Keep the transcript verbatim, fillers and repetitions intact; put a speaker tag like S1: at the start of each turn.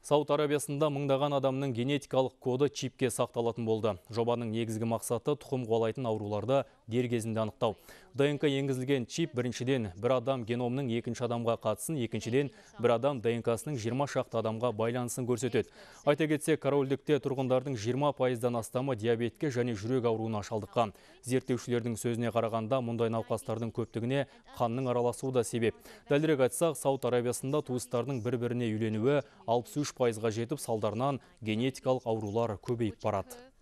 S1: Сауд Арабиясында мыңдаған адамның генетикалық коды чипке сақталатын болды. Жобаның негізгі мақсаты тұқым қуалайтын ауруларды дер кезінде анықтау. ДНК енгізілген чип біріншіден бір адам геномның екінші адамға қатысын, екіншіден бір адам ДНК-сының жиырма шақты адамға байланысын көрсетеді. Айта кетсек, корольдікте тұрғындардың жиырма пайыздан астамы диабетке және жүрек ауруына шалдыққан. Зерттеушілердің сөзіне қарағанда, мұндай науқастардың көптігіне қанның араласуы да себеп. Дәлірек айтсақ, Сауд Арабиясында туыстардың бір-біріне үйленуі алпыс үш пайызға жетіп, салдарынан генетикалық аурулар көбейіп барады.